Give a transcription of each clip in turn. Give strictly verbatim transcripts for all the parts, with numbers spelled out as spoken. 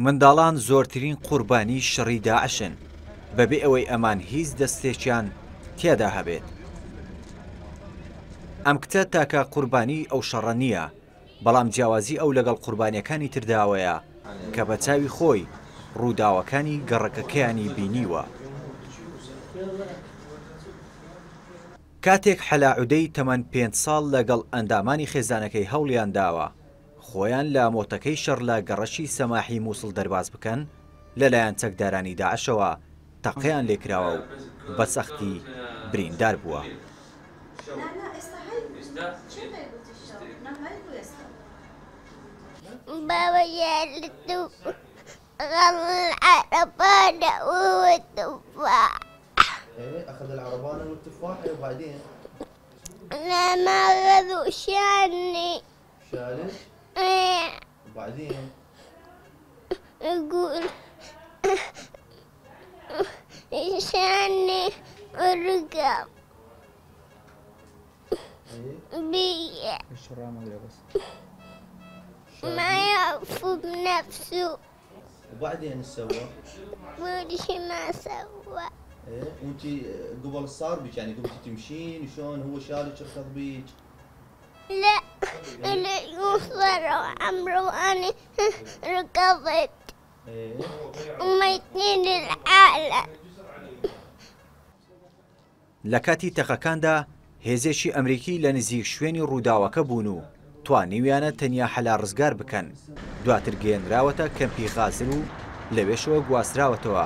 منداڵان زۆرترین قوربانی شەڕی داعشن بەبێ ئەوەی ئەمان هیچ دەستێکیان تێدا هەبێت. ئەم کچە تاکە قوربانی ئەو شەڕە نییە، بەڵام جیاوازی ئەو لەگەڵ قوربانیەکانی ترداوەیە کە بە چاوی خۆی ڕووداوەکانی گەڕەکەکەیانی بینیوە. کاتێک حەلا عودەی تەمەن پێنج ساڵ لەگەڵ ئەندامانی خێزانەکەی هەوڵیان داوە خۆیان لە مۆتەکەی شەڕ لە گەڕەکی سەماحی مووسڵ دەرباز بکەن، لەلایەن چەکدارانی داعشەوە تەقەیان لێکراوە و بە سەختی بریندار بووە. بابا جالته غل العربانة والتفاح. ايه اخذ العربانة والتفاحة وبعدين؟ لا ما اخذوا، شالني. شالك؟ ايه. وبعدين؟ يقول شالني ورقب بي ما يعرف بنفسه. وبعدين ايش سوى؟ كل شي ما سوى. ايه وانت قبل صار بك يعني قمتي تمشين شلون هو شالك ركض بيك؟ لا اللي عمرو وانا ركضت. ايه وميتين العالم. لە کاتی تەقەکاندا هێزێکی ئەمریکی لە نزیک شوێنی ڕووداوەکە بوون و توانیویانە تەنیا حەلا ڕزگار بکەن. دواتر گەیەنراوەتە کەمپی غازر و لەوێشەوە گواستراوەتەوە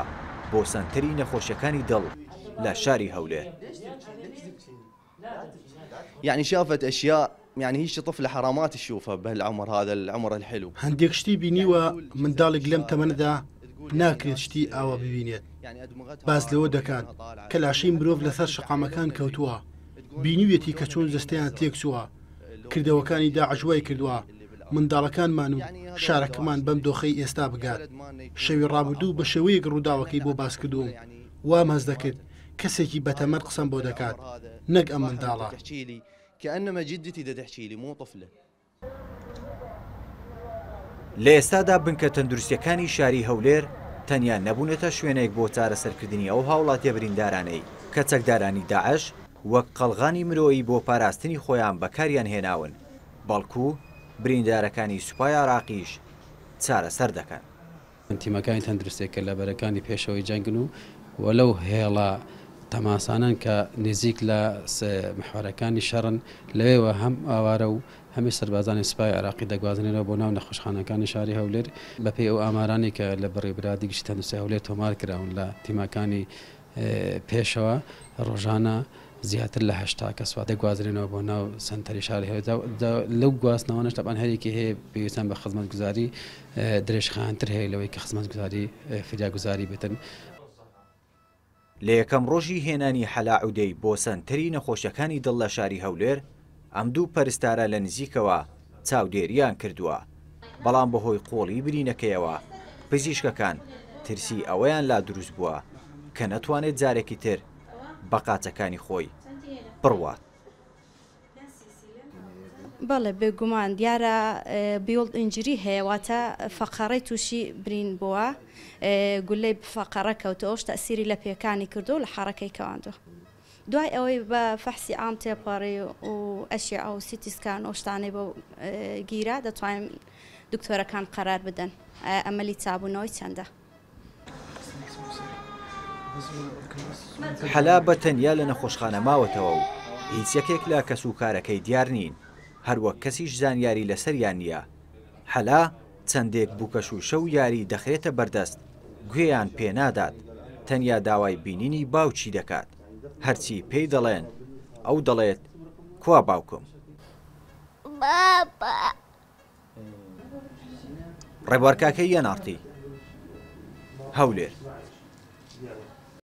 بۆ سەنتەری نەخۆشیەکانی دڵ لە شاری هەولێر. يعني شافت اشياء يعني هي طفله حرامات تشوفها بهالعمر هذا العمر الحلو. هەندێک شتی بینیوە منداڵێک لەم تەمەنەدا ناکرێت شتی ئاوا ببینێت. باس لەوە دەکات کە لاشەی مرۆڤ لەسەر شەقامەکان کەوتووە، بینیویەتی کە چۆن جەستەیان تێکچووە، کردەوەکانی داعش وای کردووە منداڵەکانمان و شارەکەمان بەم دۆخەی ئێستا بگات. شەوی ڕابردوو بە شێوەیەک ڕووداوەکەی بۆ باس کردووم وام هەست دەکرد کەسێکی بەتەمەن قسەم بۆ دەکات نەک ئەم منداڵە. كأنما جدتي دا تحكي لي مو طفلة. لە ئێستادا بنکە تەندروستیەکانی شاری هەولێر تەنیا نەبوونەتە شوێنێک بۆ چارەسەرکردنی ئەو هاوڵاتیە بریندارانەی کە چەکدارانی داعش وەک قەڵغانی مرۆیی بۆ پاراستنی خۆیان بەکاریان هێناون، بەڵکو بریندارەکانی سوپای عراقیش چارەسەر دەکەن. تیمەکانی تەندروستیەکە لە بەرەکانی پێشەوەی جەنگن و وەلەو هێڵە تەماسانن کە نزیک لە محوەرەکانی شەڕن، لەوێوە هەم ئاوارە و هەمی سەربازانی سوپای عراقی دەگوازنێنەوە بۆ ناو نەخۆشخانەکانی شاری هەولێر. بەپێی ئەو ئامارانی کە لە بەڕێوەبەرایەتی گشتی تەندروستی هەولێر تۆمار کراون لە تیمەکانی پێشەوە ڕۆژانە زیاتر لە هەشتا کەس دەگوازرێنەوە بۆ ناو سەنتەری شاری هەولێر. لەو گواستنەوەنەش تەبعەن هەرێکی هەیە پێویستیان بە خزمەتگوزاری درێژخایەنتر هەیە لەوەی کە خزمەتگوزاری فریاگوزاری بێتن. لە یەکەم ڕۆژی هێنانی حەلا عودەی بۆ سەنتەری نەخۆشیەکانی دڵ لە شاری هەولێر، ئەم دوو پەرستارە لە نزیکەوە چاودێریان کردووە، بەڵام بەهۆی قۆڵی برینەکەیەوە پزیشکەکان ترسی ئەوەیان لا دروست بووە کە نەتوانێت جارێکی تر بە قاچەکانی خۆی بڕوات. بەڵێ بێگومان دیارە بیڵد ئینجری هەیە، واتە فەقەڕەی تووشی برین بووە، گولەی فەقەڕە کەوتەوەش تەسیری لە پێکانی کردو لە حەڕەکەی کەواندووە. دوای ئەوەی بە فەحسی عام تێپەڕی و ئەشیعە و سیتی سکان و شتانەی بۆ گیرا، دەتوانین دکتۆرەکان قەرار بدەن ئەمەلی چابوونەوەی چەندە. حەلا بە تەنیا لە نەخۆشخانە ماوەتەوە و هیچ یەکێک لە کەس و کارەکەی دیار نین، هەروەک کەسیش زانیاری لەسەریان نییە. حەلا چەندێک بووکە شووشە و یاری دەخرێتە بەردەست، گوێیان پێنادات، تەنیا داوای بینینی باوکی دەکات. هەرچی پێی دەڵێن ئەو دەڵێت کوا باوکم؟ بابا. ڕێبوارکاکەی یەناڕتی، هەولێر.